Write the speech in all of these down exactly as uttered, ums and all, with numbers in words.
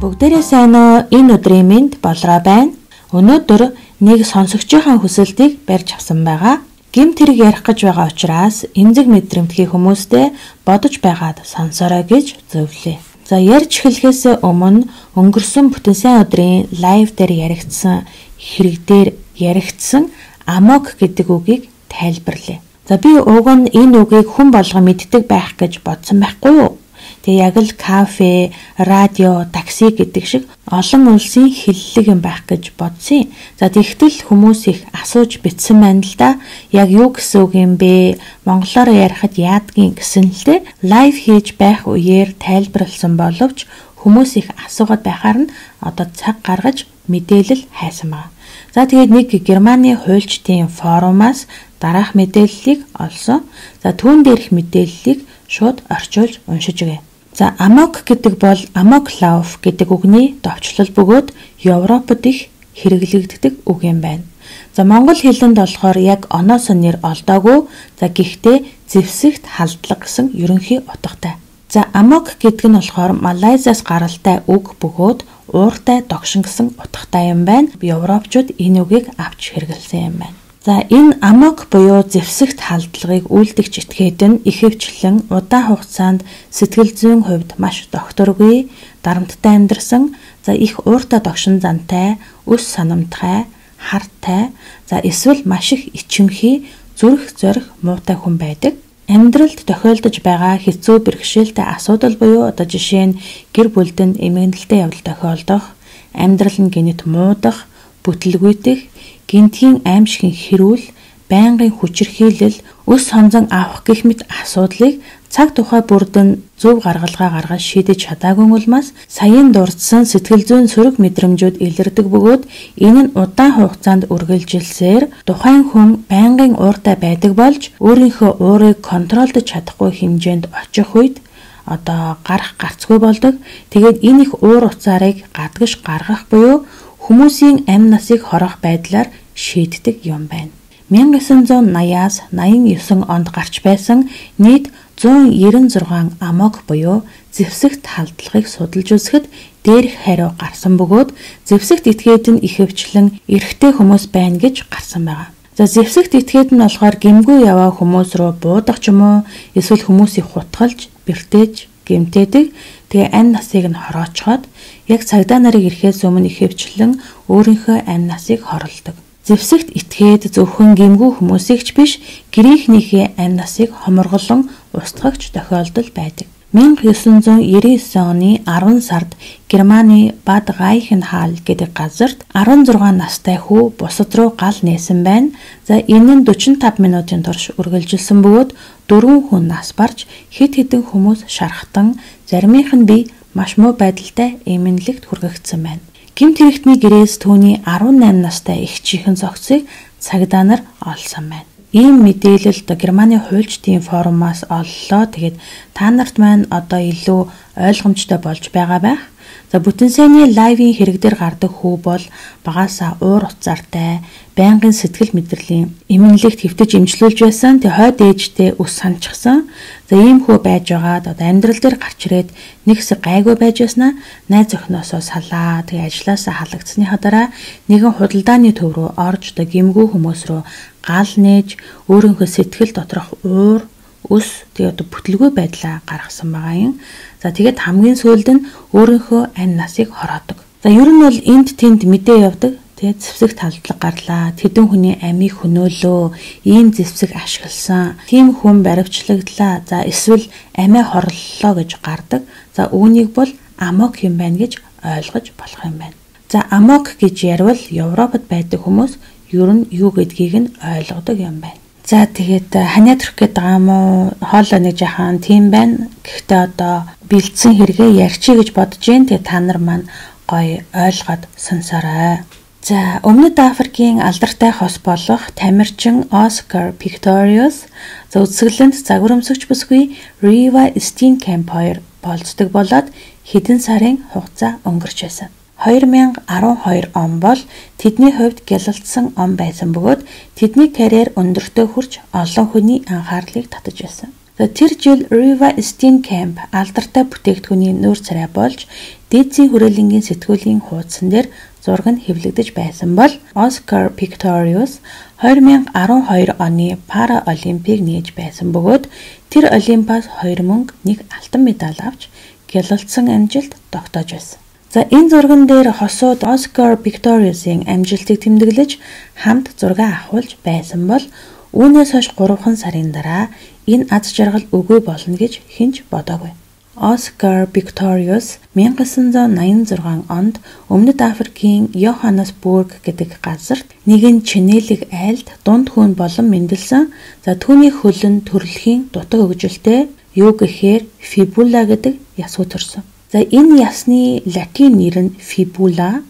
Бүгдээрээ сайн уу? Энэ өдрийн мэнд болроо байна. Өнөөдөр нэг сонсогчийн хүсэлтийг барьж авсан байгаа. Гэмт хэрэг ярих гэж байгаа учраас эмзэг мэдрэмтгий хүмүүстэй бодож байгаад сонсорой гэж зөвлөе. За ярьж эхлэхээс өмнө өнгөрсөн бүтэн сайн өдрийн лайв дээр яригдсан хэрэг дээр яригдсан амок гэдэг үгийг тайлбарлая. За би уг нь энэ үгийг хүн болго мэддэг байх гэж бодсон байхгүй юу? Тэгээ яг л кафе, радио, такси гэдэг шиг олон улсын хэллэг юм байх гэж бодсон. За тэгтэл хүмүүс их асууж битсэн байна л да. Яг юу гэсэн үг юм бэ? Монголоор ярихад яадгийн гэсэн л дээ. Лайв хийж байх үеэр тайлбарлсан боловч хүмүүс их асуугаад байхаар нь одоо цаг гаргаж мэдээлэл хайсан байна. За тэгээд нэг Германы хуульчдын форумаас дараах мэдээллийг олсон. За түүн дээрх мэдээллийг шууд орчуулж уншиж өгье. За амок гэдэг бол амоклав гэдэг үгний товчлол бөгөөд Европод их хэрэглэгддэг үг юм байна. За монгол хэлэнд болохоор яг оноос нь нэр олдоогүй. За гэхдээ зэвсэгт халдлага гэсэн ерөнхий утгатай. За амок гэдэг нь болохоор Малайзаас гаралтай үг бөгөөд ууртай догшин гэсэн утгатай юм байна. Европчууд энэ үгийг авч хэрэглэсэн юм байна. За энэ амок буюу зэвсэгт халдлагыг үйлдэгч этгээд нь ихэвчлэн удаан хугацаанд сэтгэл зүйн хувьд маш докторгүй, дарамттай амьдарсан, за их ууртай догшин зантай, өс санамтгай, хартай, за эсвэл маш их ичимхий, зүрх зорих муутай хүн байдаг. Амьдралд тохиолдож байгаа хэцүү бэрхшээлтэй асуудал буюу одоо жишээ нь гэр бүлдэнд эмгэнэлтэй явдал тохиолдох, амьдрал нь гинэт муудах, бүтлгүйдэх, гинтгийн аимшигын хэрүүл, байнгын хүчирхийлэл, өс сонзон авах гэх мэт асуудлыг цаг тухай бүрдэн зөв гаргалгаа гаргаж шийдэж чадаагүй улмаас саяын дурдсан сэтгэл зүйн сөрөг мэдрэмжүүд илэрдэг бөгөөд энэ нь удаан хугацаанд үргэлжилсээр тухайн хүн байнгын ууртай байдаг болж өөрийнхөө уурыг контролдож чадахгүй хэмжээнд очих үед одоо гарах гарцгүй болдог. Тэгээд энэ их уур уцаарыг гадагш гаргах буюу хүмүүсийн амь насыг хорох байдлаар шийддэг юм байна. мянга девятьсот восьмидесятаас наян девять онд гарч байсан нийт зуун девяносто шесть амок буюу зэвсэгт халдлагыг судалж үзэхэд дээрх хариу гарсан бөгөөд зэвсэгт этгээд нь ихэвчлэн эрэгтэй хүмүүс байна гэж гарсан байгаа. За зэвсэгт этгээд нь болохоор гэмгүй яваа хүмүүс рүү буудах ч юм уу эсвэл хүмүүсийг хутгалж, бэртээж, гэмтээдэг. Тэгээ амь насыг нь хороочхоод яг цагдаа нарыг ирэхээс өмнө ихэвчлэн өөрийнхөө амь насыг хорлдог. Зэвсэгт этгээд зөвхөн гэмгүй хүмүүсийг ч биш гэрийнхнийхээ амь насыг хоморголон устгагч тохиолдол байдаг. мянга девятьсот девяносто девять оны арван сард Германы Бад Райхенхалл гэдэг газарт арван зургаан настай хүү бусад руу гал нээсэн байна. За энэ нь дөрвөн и cinque минутын турш үргэлжилсэн бөгөөд дөрвөн хүн нас барж хэд хэдэн хүмүүс шархтан заримынх нь бие маш муу байдалтай эмнэлэгт хүргэгдсэн байна. Гэмт хэрэгтний гэрээс түүний арван найман настай эгчийнхэн зохицыг цагдаа нар олсон байна. Ийм мэдээлэл одоо Германы хуульчдын форумаас оллоо. Тэгээд та нарт маань одоо илүү ойлгомжтой болж байгаа байх. За бүтэн сайнны лайвын хэрэг дээр гардаг хүү бол багаасаа уур уцаартай, байнгын сэтгэл мэдрэлийн эмнэлэгт хэвтэж эмчлүүлж байсан. Тэг хойд ээжтэй ус санчсан. За ийм хүү байж байгаад одоо амьдрал дээр гарч ирээд нэг хэсэг гайгүй байж байснаа найз охиноосоо салаа. Тэг ажилласаа халагдсныхаа дараа нэгэн худалдааны төв рүү орж одоо гэмгүй хүмүүс рүү гал нээж өөрийнхөө сэтгэл доторх уур, өс тэгээ одоо бүтлгүй байдлаа гаргасан байгаа юм. За тэгээд хамгийн сүүлд нь өөрийнхөө амь насыг хороодог. За ер нь бол энд тэнд мэдээ явдаг. Тэгээд зэвсэгт халдлага гарлаа. Тэдэн хүний амийг хөнөөлөө. Ийм зэвсэг ашигласан. Тийм хүн баривчлагдлаа. За эсвэл амиа хорлолоо гэж гардаг. За үүнийг бол амок юм байна гэж ойлгож болох юм байна. За амок гэж ярил Европод байдаг хүмүүс ер нь юу гэдгийг нь ойлгодог юм байна. За тэгээд ханиад төрөх гээд байгаа юм уу? Хоолой нэг жахан тийм байна. Гэхдээ одоо бэлдсэн хэрэгээ ярьчих гэж бодож जैन. Тэгээд та нар маань гоё ойлгоод сонсорой. За өмнөд Африкийн алдартай хос болох тамирчин Оскар Писториус за үзэсгэлэнт загварамсагч бүсгүй Рива Стенкэмп хоёр болцдог болоод хэдэн сарын хугацаа өнгөрч байсан. две тысячи двадцать two он бол тэдний хувьд гялалцсан он байсан бөгөөд тэдний карьер өндөртөө хүрч олон хүний анхаарлыг татаж байсан. Тэр жил Рива Стенкэмп алдартай бүтээгдэхүүний нүүр царай болж дээдсийн хүрээлэнгийн сэтгүүлийн хуудсан дээр зураг нь хэвлэгдэж байсан бол Oscar Pistorius two thousand twelve оны Пара Олимпийг нээж байсан бөгөөд тэр Олимпиас хоёр мөнгө, нэг алтан медаль авч гялалзсан амжилт тогтоож байсан. За энэ зурган дээр хосууд Oscar Pistorius-ийн амжилтыг тэмдэглэж хамт зураг авахулж байсан бол үүнээс хойш гурван сарын дараа энэ аз жаргал үгүй болно гэж хинч бодоогүй. Oscar Pistorius nineteen ninety-six онд Өмнөд Африкийн Йоханнесбург гэдэг газарт нэгэн чинээлэг айлд дунд хүүн болон мэндэлсэн. За түүний хөлн төрөлхийн дутаг хөгжилтэй юу гэхээр fibula гэдэг ясуу төрсөн. За энэ ясны латин нэр нь fibula.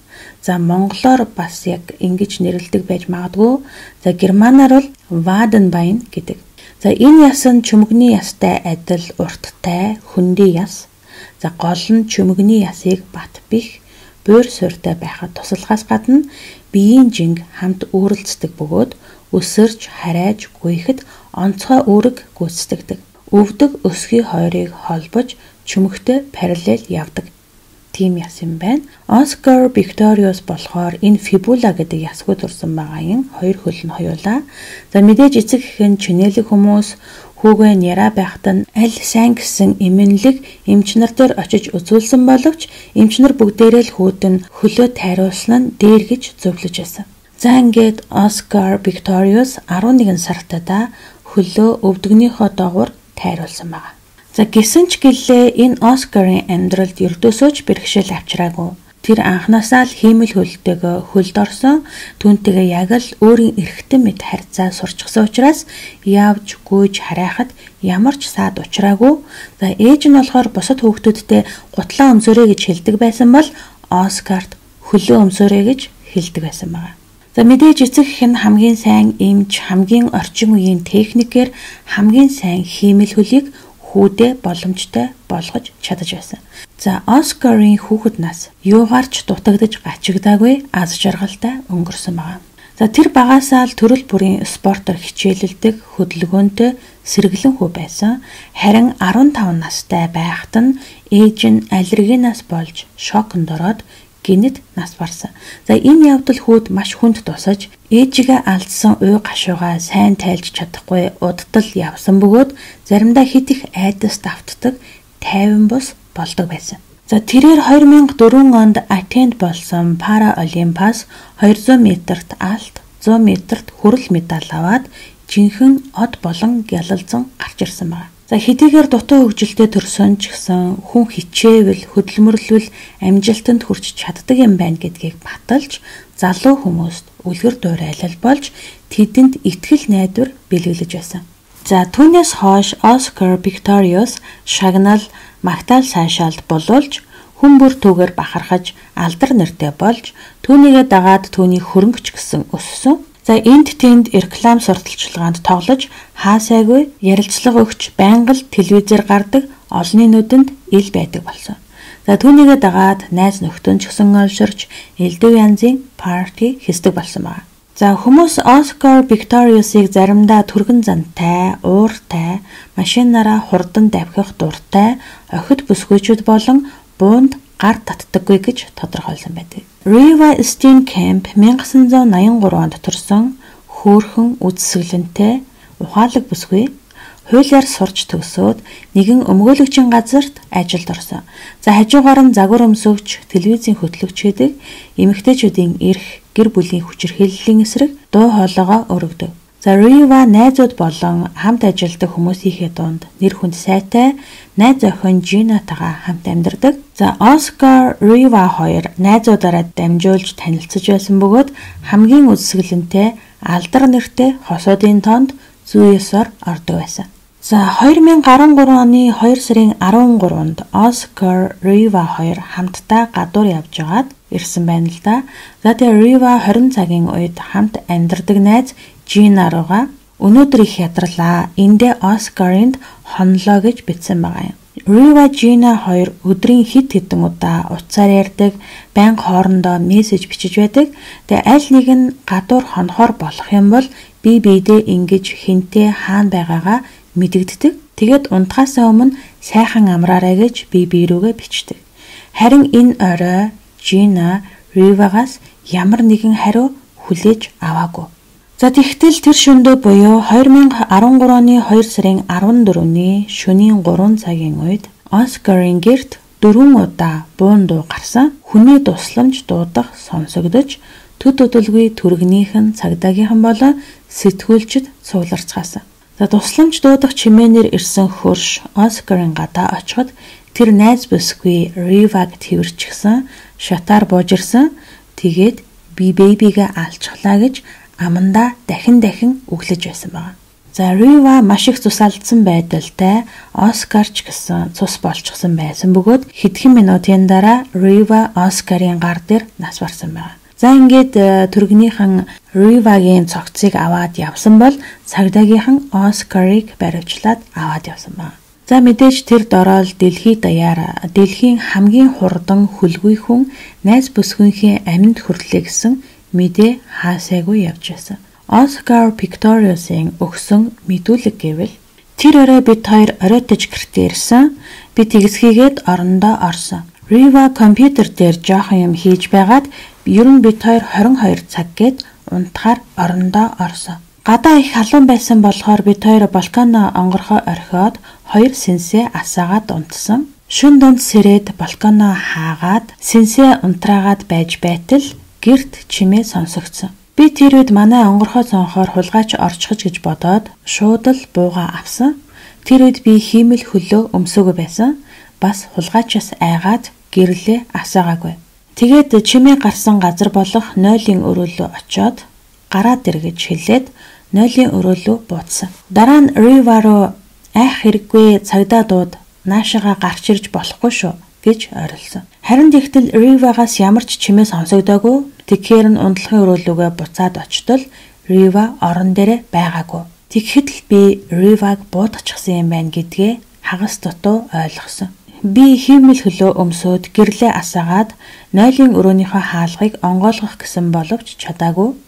За монголоор бас яг ингэж нэрлэдэг байж магадгүй. За германаар бол Wadenbein гэдэг. За энэ яс нь чүмэгний ястай адил урттай, хөндөй яс. За гол нь чүмэгний ясыг бат бих, буур суурьтай байхад туслахаас гадна биеийн жинг хамт үүрэлцдэг бөгөөд өсөрч, харайж, гүйхэд онцгой үүрэг гүйцэтгэдэг. Өвдөг өсгий хоёрыг холбож чүмэгтэй параллел явдаг. Тийм яс юм байна. Oscar Pistorius болохоор энэ fibula гэдэг ясгүй дурсан байгаа юм. Хоёр хөл нь хоёулаа. За мэдээж эцэг эхэн чинээлэг хүмүүс хүүгээ няра байхад нь аль сайн гэсэн эмэнлэг эмчнэр дээр очиж үзүүлсэн боловч эмчнэр бүгдээрээ л хүүд нь хөлөө тайруулсан нь дээр гэж зөвлөж байсан. За ингээд Oscar Pistorius eleven сартаа хөлөө өвдөгнийхөө доогуур тайруулсан байна. За гисэн ч гэлээ энэ Оскарын амьдралд ердөөсөө ч бэрхшээл авчираагүй. Тэр анхнаасаа л хиймэл хөлтэйгээ хөлд орсон, түүнтэйгээ яг л өөрийн эрхтэн мэд харьцаа сурчсан учраас явж гүйж харайхад ямар ч саад учраагүй. За ээж нь болохоор бусад хүүхдүүдтэй гутлаа өмсөөрэй гэж хэлдэг байсан бол Оскарт хөлөө өмсөөрэй гэж хэлдэг байсан байна. За мэдээж эцэг эх нь хамгийн сайн эмч, хамгийн орчин үеийн техникээр хамгийн сайн хиймэл хөлийг хүүдээ боломжтой болгож чадаж байсан. За Оскарын хүүхэд нас юугаарч дутагдж гачигдаагүй аз жаргалтай өнгөрсөн байна. За тэр багасаа л төрөл бүрийн спортоор хичээлэлдэг, хөдөлгөөнтэй сэргэлэн хүү байсан. Харин fifteen настай байхад нь ээж нь аллергинаас болж шоконд ороод гинэт нас барсан. За энэ явдал хүүд маш хүнд тусаж ээжигээ алдсан уй гашуугаа сайн тайлж чадахгүй удтал явсан бөгөөд заримдаа хит их айдас давтдаг тайван бус болдог байсан. За тэрээр two thousand four онд Атенд болсон Пара Олимпиас two hundred метрт алт, one hundred метрт хүрэл медаль аваад жинхэнэ од болон гялалзан гарч ирсэн байна. За хэдийгээр дутуу хөгжилтэй төрсөн ч гэсэн хүн хичээвэл хөдөлмөрлөвл амжилтанд хүрч чаддаг юм байна гэдгийг баталж залуу хүмүүст үлгэр дуурайлал болж тэдэнд итгэл найдвар бэлгэлж байсан. За түүнээс хойш Oscar Pistorius шагнал магтаал сайшаалд болуулж хүн бүр түүгээр бахархаж алдар нэртэй болж түүнийгээ дагаад түүний хөрөнгөч гэсэн өссөн. За энд тэнд реклам сурталчилгаанд тоглож хаасайгүй ярилцлага өгч байнга л телевизээр гардаг олонний нүдэнд ил байдаг болсон. За түүнийгээ дагаад найз нөхдөнд ч гэсэн олширч элдв янзын парти хийдэг болсон байна. За хүмүүс Oscar Pistorius-ыг заримдаа түргэн зантай, ууртай, машинаараа хурдан давхих дуртай, охид бүсгүйчүүд болон буунд гар татдаггүй гэж тодорхойлсон байдаг. Reeva Steenkamp nineteen ninety-three онд төрсөн хөөрхөн үзэсгэлэнтэй ухаалаг бүсгүй хуулиар сурч төгсөөд нэгэн өмгөөлөгчийн газарт ажилд орсон. За хажуугаар нь загвар өмсөвч, телевизийн хөтлөгч гэдэг эмэгтэйчүүдийн эрх, гэр бүлийн хүчирхийллийн эсрэг дуу хоолойгоо өргөдөг. За Reeva найзууд болон хамт ажилладаг хүмүүсийнхээ дунд нэр хүнд сайтай найз охин Gina-тайгаа хамт амьдардаг. За Oscar Reeva хоёр найзуудаараа дамжуулж танилцж байсан бөгөөд хамгийн үзэсгэлэнтэй алдар нэртэй хосуудын тоонд зүйсээр ордог байсан. За two thousand thirteen оны two сарын thirteen-нд Oscar Reeva хоёр хамтдаа гадуур явж байгаад ирсэн байна л да. За тэгээ Reeva twenty цагийн үед хамт амьдардаг найз Gina руугаа өнөөдөр их ядарлаа. Эндээ Oscar-нд хонлоо гэж бичсэн байгаа юм. Reeva Gina хоёр өдрийн хит хитэн удаа утсаар ярьдаг, байнга хоорондоо мессеж бичиж байдаг. Тэгээ аль нэг нь гадуур хонохоор болох юм бол би биедээ ингэж хинтээ хаана байгаагаа мэдэгддэг. Тэгээд унтахаас өмнө сайхан амраарай гэж би бие рүүгээ бичдэг. Харин энэ орой Жина Ривагаас ямар нэгэн хариу хүлээж аваагүй. За тэгтэл тэр шөнөдөө буюу две тысячи десять оны хоёр сарын арван дөрөвний шөнийн гурван цагийн үед Оскарын гэрт дөрвөн удаа буун дуу гарсан. Хүний тусламж дуудах сонсогдож, төд төдөлгүй түргнийхэн цагдаагийнхан болон сэтгүүлчд цугларцгаасан. За тусламж дуудах чимээнээр ирсэн хөрш Оскарын гадаа очиход тэр найз бүсгүй Риваг тэрчгсэн, шатаар буужирсан. Тэгээд би бэбигээ алчглаа гэж амандаа дахин дахин өглөж байсан байна. За Рива маш их цус алдсан байдалтай Оскарч гэсэн цус болчихсон байсан бөгөөд хэдхэн минутын дараа Рива Оскарын гар дээр нас барсан байна. За ингээд түргнийхэн Ривагийн цогцыг аваад явсан бол цагдаагийнхан Оскарыг баривчлаад аваад явсан байна. За мэдээж тэр дорол дэлхий даяар дэлхийн хамгийн хурдан хөлгүй хүн найз бүсгүйнхийн аминд хүрлээ гэсэн мэдээ хаасайгүй явж байсан. Оскар Пикториусын өгсөн мэдүүлэг гэвэл тэр орой бид хоёр оройтож гэртээ ирсэн. Би тэгсхийгээд орондоо орсон. Рива компьютер дээр жоохон юм хийж байгаад ер нь бид хоёр двадцать two цаг гээд унтахаар орондоо орсон. Гадаа их халуун байсан болохоор бид хоёр балконоо онгорхоо орхиод хоёр сэнсээ асаагаад унтсан. Шүн дунд сэрээд балконоо хаагаад сэнсээ унтраагаад байж байтал гэрт чимээ сонсогдсон. Би тэр үед манай онгорхоо цонхоор хулгайч орчихж гэж бодоод шууд л бууга авсан. Тэр үед би хиймэл хөлөө өмсөөгөө байсан. Бас хулгайчаас айгаад гэрлээ асаагаагүй. Тэгээд чимээ гарсан газар болох нойлын өрөөлөө очиод гараад ир гэж хэлээд нойлын өрөөлөө буутсан. Дараа нь Рива руу айх хэрэггүй цагдаа дууд наашаага гарч ирж болохгүй шүү гэж орилсон. Харин тэгтэл Ривагаас ямар ч чимээ сонсогдоогүй. Тэгэхээр нь ундлахын өрөөлөөгөө буцаад очтол Рива орон дээрээ байгаагүй. Тэгэхэд л би Риваг буутчихсан юм байна гэдгээ хагас дутуу ойлгосон. Би хиймэл хөлөө өмсөөд гэрлээ асаагаад нойлын өрөөнийхөө хаалгыг онгойлгох гэсэн боловч чадаагүй.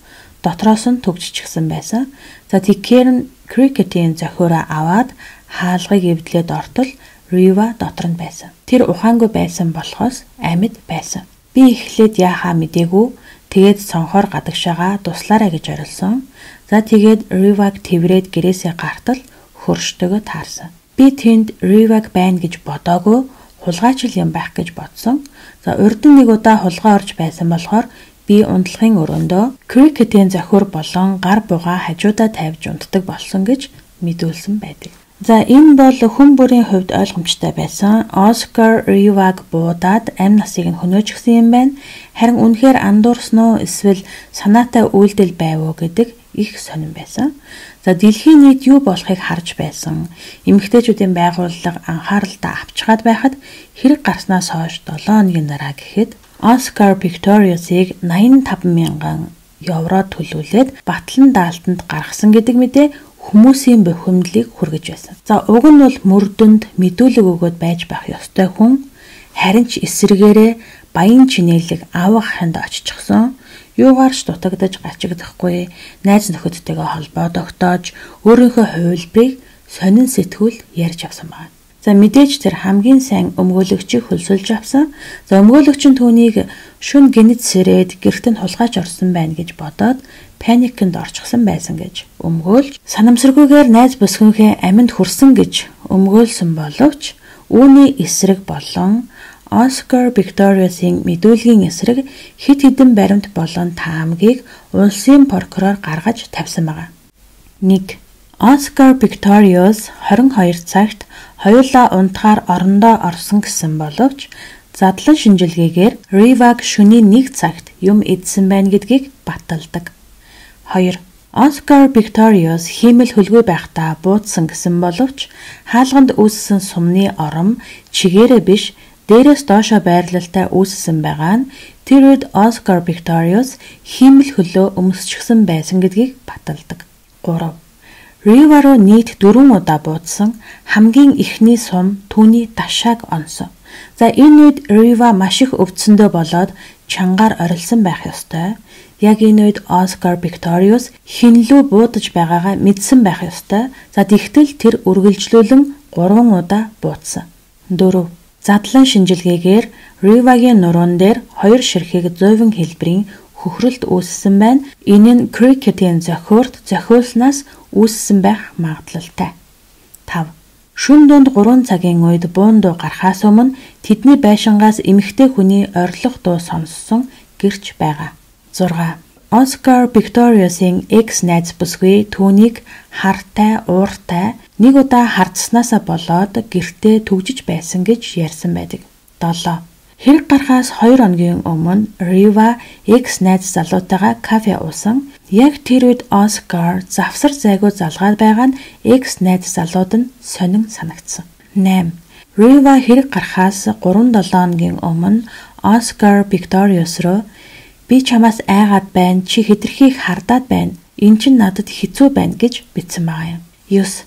Дотроос нь төгжчихсэн байсан. За тэгэхээр нь крикетийн зохиороо аваад хаалгыг эвдлээд ортол Рива дотор нь байсан. Тэр ухаангүй байсан болохоос амьд байсан. Би эхлээд яахаа мэдээгүй. Тэгээд цонхоор гадагшаага туслаарай гэж орилсон. За тэгээд Риваг тэврээд гэрээсээ гартал хөрштөгөө таарсан. Би тэнд Риваг байна гэж бодоогүй, хулгайчил юм байх гэж бодсон. За урд нь нэг удаа хулгай орж байсан болохоор би унтлагын өрөөндөө крикетийн зохиор болон гар бугаа хажуудаа тавьж унтдаг болсон гэж мэдүүлсэн байдаг. За энэ бол хүн бүрийн хувьд ойлгомжтой байсан. Оскар Риваг буудаад амь насыг нь хөнөөжсөн юм байна. Харин үнэхээр андуурсан уу эсвэл санаатай үйлдэл байв уу гэдэг их сонирн байсан. За дэлхийн нийт юу болохыг харж байсан. Эмэгтэйчүүдийн байгууллага анхааралтай авчгаад байхад хэрэг гарснаас хойш долоо хоногийн дараа гэхэд Оскар Пикториусыг найман таван мянган евро төлүүлээд батлан даалтанд гаргасан гэдэг мэдээ хүмүүсийн бухимдлыг хүргэж байсан. За уг нь бол мөрдөнд мэдүүлэг өгөөд байж байх ёстой хүн харин ч эсрэгээрээ баян чинээлэг авах ханд оччихсон. Юугаарч дутагдаж гачигдахгүй, найз нөхөдтэйгээ холбоо тогтоож, өөрийнхөө хувилбарыг сонин сэтгүүл ярьж авсан байна. За мэдээж тэр хамгийн сайн өмгөөлөгчийг хөлсөлж авсан. За өмгөөлөгч нь түүнийг шүн гинэд сэрээд гэрт нь хулгайч орсон байна гэж бодоод паникнд орчихсан байсан гэж өмгөөлж, санамсаргүйгээр найз бүсгүйнхээ аминд хүрсэн гэж өмгөөлсөн боловч үүний эсрэг болон Оскар Пикториусын мэдүүлгийн эсрэг хэд хэдэн баримт болон таамгийг улсын прокурор гаргаж тавьсан байна. нэг. Оскар Пикториус двадцать two цагт хоёулаа унтахаар орондоо орсон гэсэн боловч задлан шинжилгээгээр Риваг шөнийн нэг цагт юм идсэн байна гэдгийг баталдаг. two. Оскар Пикториус хиймэл хөлгүй байхдаа буудсан гэсэн боловч хаалганд үүссэн сумны ором чигээрээ биш дээрээс доошоо байрлалтай үүссэн байгаа нь тэр үед Оскар Пикториус хиймэл хөлөө өмсчихсэн байсан гэдгийг баталдаг. three. Рива руу нийт дөрвөн удаа буудсан хамгийн ихний сум түүний дашааг онсон. За энэ үед Рива маш их өвдсөндөө болоод чангаар орилсон байх ёстой. Яг энэ үед Оскар Пикториус хинлүү буудаж байгаагаа мэдсэн байх ёстой. За тэгтэл тэр үргэлжлүүлэн гурван удаа буудсан. four. Задлан шинжилгээгээр Riva-гийн нуруунд дээр хоёр ширхэг зовин хэлбэрийн хөхрөлт үүссэн байна. Энэ нь Cricket-ийн зохиурт зохиулснаас үүссэн байх магадлалтай. тавь. Шөнө дунд гурван цагийн үед буун дуу гарахаас өмнө тэдний байшингаас эмэгтэй хүний орилох дуу сонссон гэрч байгаа. зураг. Оскар Pistorius-ийн экс-найз бүсгүй түүнийг хартай, ууртай нэг удаа хардснаасаа болоод гэртээ түгжиж байсан гэж ярьсан байдаг. долоо. Хэрэг гарахаас хоёр хоногийн өмнө Riva экс-найз залуутайгаа кафе уусан. Яг тэр үед Оскар завсар зайгүй залгаад байгаа нь экс-найз залууд нь сонин санагдсан. намь. Riva хэрэг гарахаас гурван долоо хоногийн өмнө Оскар Pistorius руу "Би чамаас айгаад байна, чи хэтэрхийг хардаад байна. Энд чинь надад хэцүү байна" гэж бичсэн байгаа юм. ёс.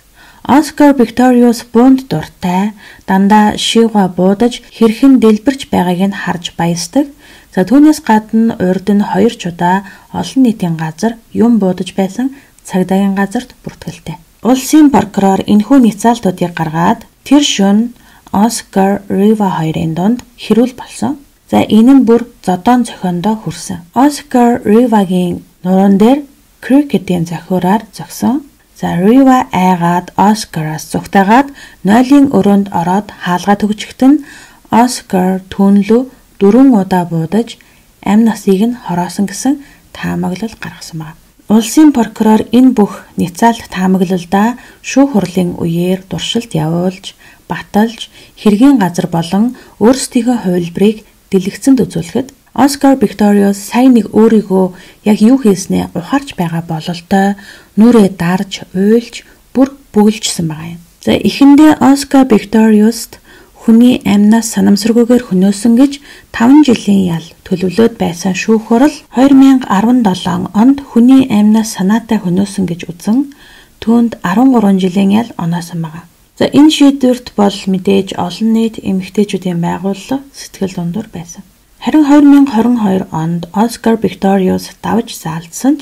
Оскар Pistorius буунд дуртай, дандаа шивга буудаж хэрхэн дэлбэрч байгааг нь харж баясдаг. За түүнээс гадна урд нь хоёр ч удаа олон нийтийн газар юм буудаж байсан цагдаагийн газарт бүртгэлтэй. Улсын прокурор энэхүү няцаалтуудыг гаргаад тэр шөнө Оскар Riva хоёрын дунд хэрүүл болсон. За энэ нь бүр зодоон зохиондоо хүрсэн. Оскар Riva-гийн нуруунд дээр Cricket-ийн зохиураар зогсон. За Riva айгаад Оскараас зүгтаагаад нойлын өрөөнд ороод хаалгаа төгчгт нь Оскар түүнлүү дөрвөн удаа буудаж амь насыг нь хороосон гэсэн таамаглал гаргасан байна. Улсын прокурор энэ бүх няцаалт таамаглалдаа шүүх хурлын үеэр дуршилт явуулж, баталж, хэргийн газар болон өөрсдийнхөө хувилбарыг дэлгэцэнд үзүүлэхэд Оскар Pistorius сайн нэг өөрийгөө яг юу хийснээ ухаарч байгаа бололтой нүрээ дарж, уйлж, бүр бүгэлжсэн байгаа юм. За эхэндээ Оскар Pistorius-т хүний амнаас санамсаргүйгээр хөнөөсөн гэж таван жилийн ял төлөвлөд байсан шүүх хурал хоёр мянга арван долоо онд хүний амнаас санаатай хөнөөсөн гэж үзэн түүнд арван гурван жилийн ял оноосон байгаа. За энэ шийдвэрт бол мэдээж олон нийт эмэгтэйчүүдийн байгууллага сэтгэл дундуур байсан. Харин хоёр мянга хорин хоёр онд Оскар Pistorius давж заалдсан ч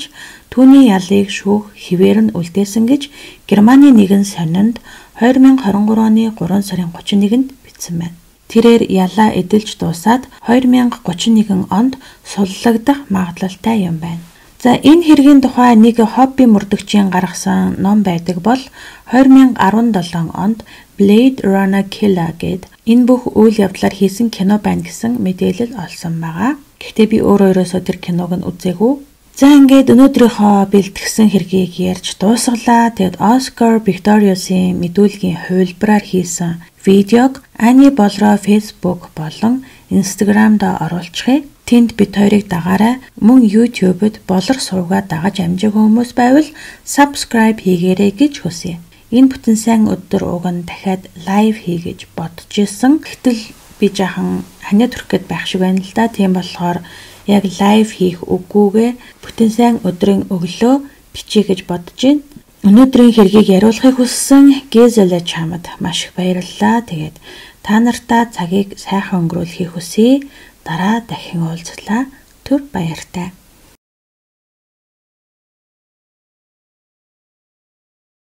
түүний ялыг шүүх хിവэр нь үлдээсэн гэж Германы нэгэн сонинд хоёр мянга хорин гурван оны гурван сарын гучин нэгэнд бичсэн байна. Тэрээр ялаа эдэлж дуусаад хоёр мянга гучин нэгэн онд суллагдах магадлалтай юм байна. За энэ хэргийн тухай нэг хобби мөрдөгчийн гаргасан ном байдаг бол хоёр мянга арван долоо онд Blade Runner Killer гэд энэ бүх үйл явдлаар хийсэн кино байна гэсэн мэдээлэл олсон байгаа. Гэхдээ би өөрөө ерөөсөө тэр киног нь үзээгүй. За ингээд өнөөдрийнхөө бэлтгэсэн хэргийг ярьж дуусгалаа. Тэгэд Оскар Pistorius-ийн мэдүүлгийн хувилбараар хийсэн видеог Ани Болроо Facebook болон Instagram-д оруулчихъя. Тэнд бид хоёрыг дагаарай. Мөн YouTube-д болор суугаад дагаж амжаагүй хүмүүс байвал subscribe хийгээрэй гэж хүсье. Энэ бүтэн сайн өдөр уг нь дахиад лайв хий гэж бодож исэн. Гэтэл би жаахан ханиа төрөх гээд байх шиг байна л да. Тийм болохоор яг лайв хийх үггүйгээ бүтэн сайн өдрийн өглөө бичиж гэж бодож байна. Өнөөдрийн хэргийг яриулахыг хүссэн Гэзэлэ чамд маш их баярлалаа. Тэгээд та нартаа цагийг сайхан өнгөрүүлэхийг хүсье. Дараа дахин уулзлаа. Түр баяртай.